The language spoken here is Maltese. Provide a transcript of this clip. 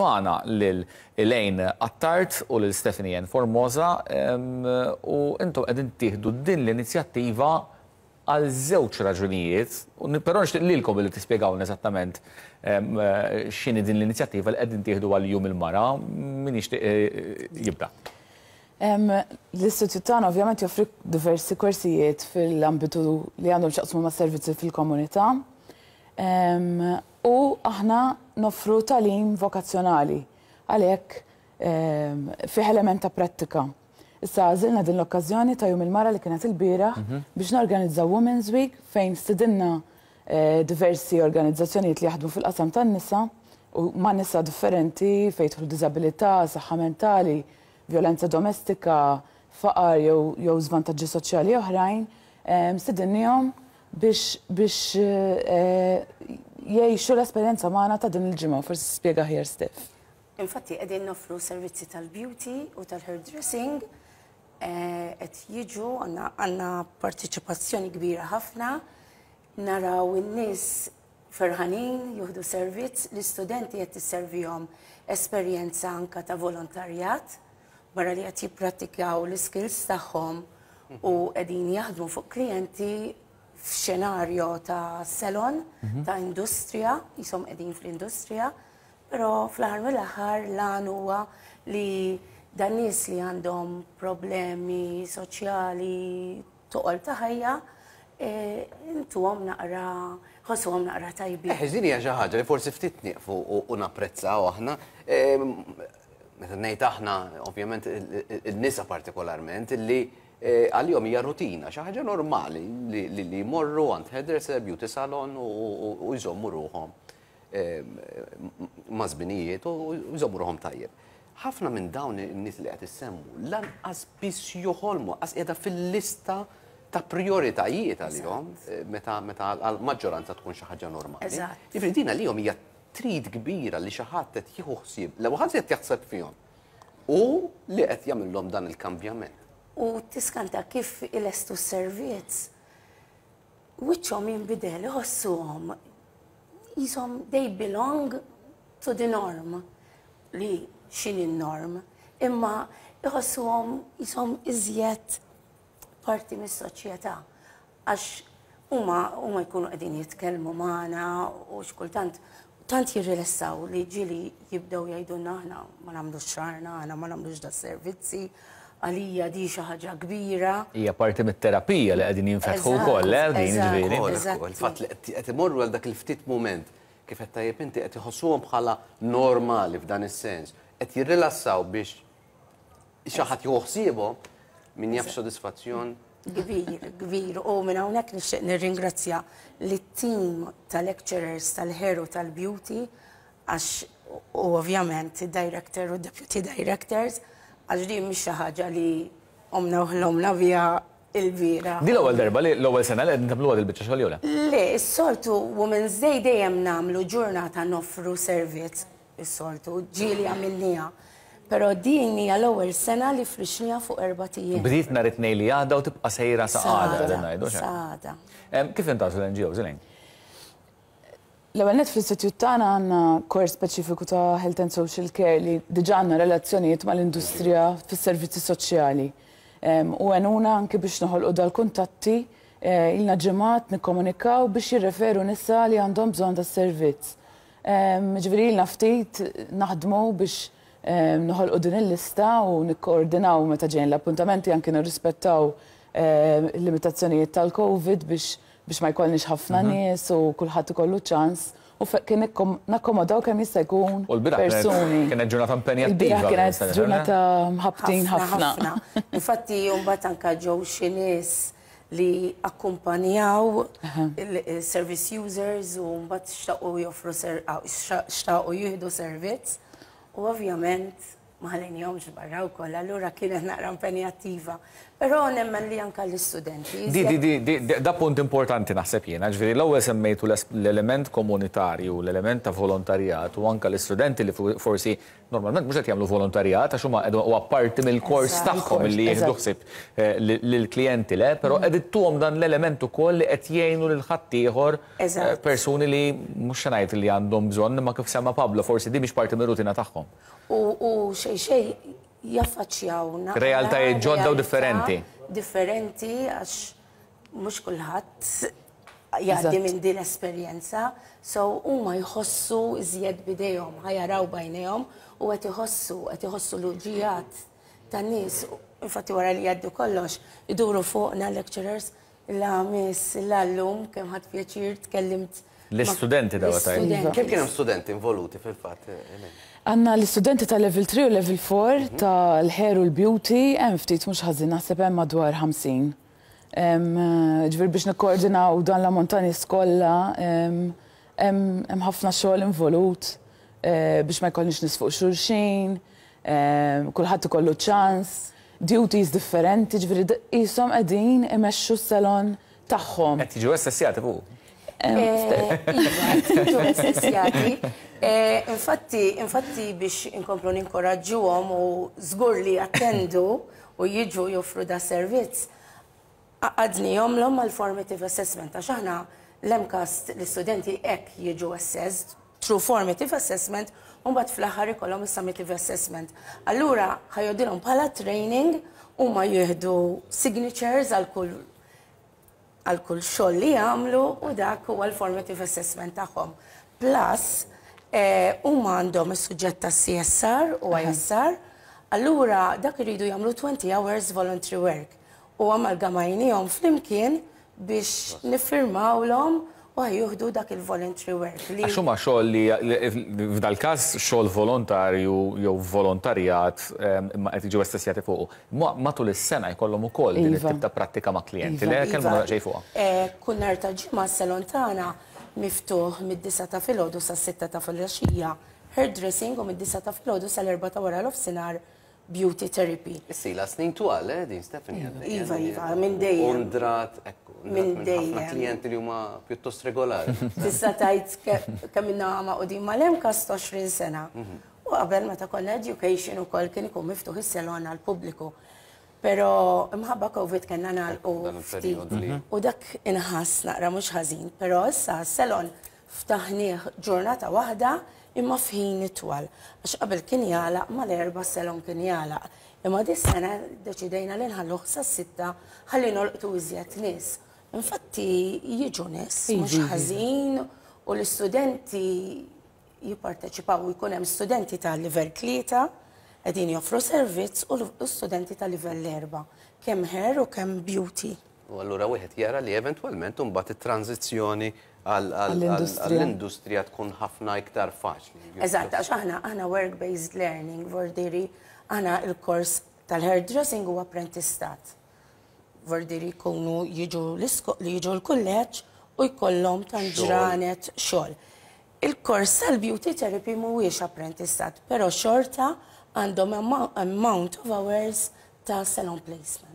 Magħna lil Elaine Attard u lil Stephanie Ann Formosa u intom qegħdin tieħdu din l-inizjattiva għal żewġ raġunijiet, però nixtieq lilkom li tispjegawlna eżattament x'inhi din l-inizjattiva li qegħdin tieħdu għal Jum il-Mara. Min jixtieq jibda? L-istitut tagħna ovvjament joffri diversi korsijiet fil-ambitu li għandhom x'jaqsmu mas-servizzi fil-komunità. U aħna noffru tagħlim vokazzjonali, għalhekk fih element ta' prattika. Issa għażilna din l-okkażjoni ta' Jum il-Mara li kienet ilbieraħ biex norganizzaw Women's Week fejn stidinna diversi organizzazzjonijiet li jaħdmu fil-qasam tan-nisa u ma' nisa differenti fejn jidħlu diżabilità, saħħa mentali, vjolenza domestika, faqar jew żvantaġġi soċjali oħrajn, stidinniehom biex biex jgħixu l-esperjenza magħna ta' din il-ġimgħa, forsi tispjega aħjar Steph. Infatti qegħdin noffru servizzi tal-beauty u tal-hairdressing, qed jiġu għandna parteċipazzjoni kbira ħafna, naraw in-nies ferħanin jieħdu servizz, l-istudenti qed tisservihom esperjenza anka ta' volontarjat, barra li qed jipprattikaw l-iskills tagħhom u qegħdin jaħdmu fuq klijenti f'xenarjo ta' salon, ta' industrija, jisom qegħdin fl-industrija, però fl-aħħar mill-aħħar l-għan huwa li dan nies li għandhom problemi soċjali, toqol ta' ħajja, intuhom naqra, ħossuhom naqra tajbin. Eh, din hija xi ħaġa li forsi ftit nieqfu u napprezzaw aħna. Meta ngħid aħna, ovvjament in-nisa partikolarment, li għalihom hija rutina, xi ħaġa normali li jmorru għand hairdresser, beauty salon u jżommu ruħhom ma' żminijiet u jżommu ruħhom tajjeb. Ħafna minn dawn in-nies li qed issemmu lanqas biss joħolmu, qas qiegħda fil-lista ta' prijoritajiet għalihom meta meta għall-maġġoranza tkun xi ħaġa normali. Jiġifieri din għalihom hija trid kbira li xi ħadd qed jieħu ħsieb, l-ewwel ħadd qed jaħseb fihom u li qed jagħmilhom dan il-kambjament. U tiskanta kif ilestu s-servizz, wiċċhom jinbidel, iħossuhom qishom they belong to the norm, li x'inhi n-norm, imma iħossuhom qishom iżjed parti mis-soċjetà għax huma huma jkunu qegħdin jitkellmu magħna u xi kultant tant jirrilessaw li ġieli jibdew jgħidulna aħna ma nagħmlux xagħarna, aħna ma nagħmlux das-servizzi, għalija di xi ħaġa kbira. Hija parti mit-terapija li qegħdin jinfetħu wkoll, eh, din jiġifieri. Il-fatt li qed imorru għal dak il-ftit mument, kif għedt tajjeb inti, qed iħossuhom bħala normali f'dan is-sens, qed jirrilassaw biex xi ħadd jieħu ħsiebhom, min jaf x'sodisfazzjon. Kbir, kbir. U minn hawnhekk nixtieq nirringrazzja lit-team ta' lecturers tal-hair u tal-beauty għax u ovvjament id-director u deputy directors għax din mhix xi ħaġa li qomna u ħlomna biha il-bieraħ. Din l-ewwel darba li l-ewwel sena li qegħdin tagħmluha dil-biċċa xogħol jew le? Le, is-soltu Women's Day dejjem nagħmlu ġurnata noffru servizz, is-soltu, ġieli għamilniha. Però din hija l-ewwel sena li frixniha fuq erbat ijiem. Bdiet nhar it-Tnejn li għadda u tibqa' sejra sa għada, qegħdin ngħidu, hux hekk? Sa għada. Kif intgħażlu l-NGOs, Elaine? L-ewwel nett fl-istitut tagħna għandna kors speċifiku ta' Health and Social Care li diġà għandna relazzjonijiet mal-industrija fis-servizzi soċjali. U għenuna anki biex noħolqu dal-kuntatti, ilna ġimgħat nikkomunikaw biex jirreferu nisa li għandhom bżonn tas-servizz. Jiġifieri ilna ftit naħdmu biex noħolqu din il-lista u nikkoordinaw meta ġejjin l-appuntamenti anki nirrispettaw il-limitazzjonijiet tal-Covid biex biex ma jkollniex ħafna nies u kulħadd ikollu ċans u kien nakkomodaw kemm jista' jkun persuni. Kienet ġurnata impenjattiva. Il-bieraħ kienet ġurnata mħabbtin ħafna. Infatti mbagħad anke ġew xi nies li akkumpanjaw il-service users u mbagħad xtaqu joffru xtaqu jieħdu servizz u ovvjament. Ma ħallejnihomx barra wkoll, allura kienet naqra impenjattiva. Però nemmen li anke l-istudenti. Di, di, di, di, di, da punt importanti naħseb jiena, ġifieri l-ewwel semmejtu l-element komunitarju, l-element ta' volontarjat u anke l-istudenti li forsi normalment mhux qed jagħmlu volontarjat għax huma qegħdu huwa parti mill-kors tagħhom li jieħdu ħsieb lill-klijenti le, però qed ittuhom dan l-element ukoll li qed jgħinu lil ħaddieħor persuni li mhux se ngħid li għandhom bżonn imma kif semma Pablo forsi di mhix parti mir-rutina tagħhom. U xejn xejn jaffaċċjaw naqra Realtajiet ġodda u differenti. Differenti għax mhux kulħadd jgħaddi minn din l-esperjenza, so huma jħossu iżjed b'idejhom, ħa jaraw b'għajnejhom u qed iħossu, qed iħossu l-uġigħat tan-nies. Infatti wara li jgħaddu kollox, iduru fuqna lecturers, la miss, la llum kemm ħadt pjaċir tkellimt. L-istudenti dawn tajt. Kemm kien hemm studenti involuti fil-fatt? Għandna l-istudenti ta' level 3 u level 4 tal-hair u l-beauty, hemm ftit mhux ħażin, naħseb hemm madwar 50. Ġifieri biex nikkoordinaw dan l-ammont ta' nies kollha, hemm ħafna xogħol involut biex ma jkollniex nies fuq xulxin, kulħadd ikollu ċans, duties differenti, ġifieri qishom qegħdin imexxu s-salon tagħhom. Qed jiġu assessjati fuq. Iva, jiġu assessjati. Infatti, infatti biex inkomplu ninkoraġġuhom u żgur li jattendu u jiġu joffru da servizz, għaqqadnihomlhom mal-formative assessment, għax aħna l-MCAST l-istudenti hekk jiġu assessed through formative assessment u mbagħad fl-aħħar ikollhom is-summative assessment. Allura ħa jgħoddilhom bħala training, huma jieħdu signatures għal kull xogħol li jagħmlu u dak huwa l-formative assessment tagħhom. Plus, huma għandhom is-suġġett ta' CSR u ISR, allura dak iridu jagħmlu 20 hours voluntary work u amalgamajnihom flimkien biex niffirmawlhom u jieħdu dak il-voluntary work. Għax huma xogħol li f'dal każ xogħol volontarju jew volontarjat imma qed jiġu assessjati fuqu. Matul is-sena jkollhom ukoll din it-tip ta' prattika ma' klijenti. Le kellmu xejn fuqha. Kull nhar ta' Ġimgħa s-salon tagħna miftuħ mid-9 ta' filgħodu sas-6 ta' filgħaxija hairdressing u mid-9 ta' filgħodu sal-4 ta' wara nofsinhar beauty therapy. Issa snin twal, din Stephanie. Iva, iva, minn dejjem. Undrat, ekku, Minn ħafna dejjem. klijenti li huma pjuttost regolari. Tista' tgħid kemm ilna magħqudin mal-MCAST 20 sena. U qabel meta konna education ukoll kien ikun miftuħ is-salon għall-pubbliku. Però imħabba Covid kellna nagħlqu Dan ftit. il-perjodu li- U dak inħass naqra mhux ħażin, però issa s-salon ftaħnieh ġurnata waħda imma f'ħin itwal. Għax qabel kien jagħlaq mal-4 salon kien jagħlaq. Imma dis sena deċidejna li nħalluh sas-6 ħalli nolqtu iżjed nies. Infatti jiġu nies mhux ħażin u l-istudenti jipparteċipaw u jkun hemm studenti ta' livell 3 qegħdin joffru servizz u l-studenti ta' livell 4, kemm hair u kemm beauty. U allura wieħed jara li eventwalment imbagħad it-tranzizzjoni Għall-industrija. għall-industrija tkun ħafna iktar faċli. Eżatt, għax aħna work-based learning, vordiri, aħna il-kors tal-hairdressing huwa apprentistat. Vordiri jkunu jiġu li jiġu l-kulleġġ u jkollhom tant ġranet xogħol. Il-kors tal-beauty therapy mhuwiex apprentistat, però xorta għandhom amount of hours ta' salon placement.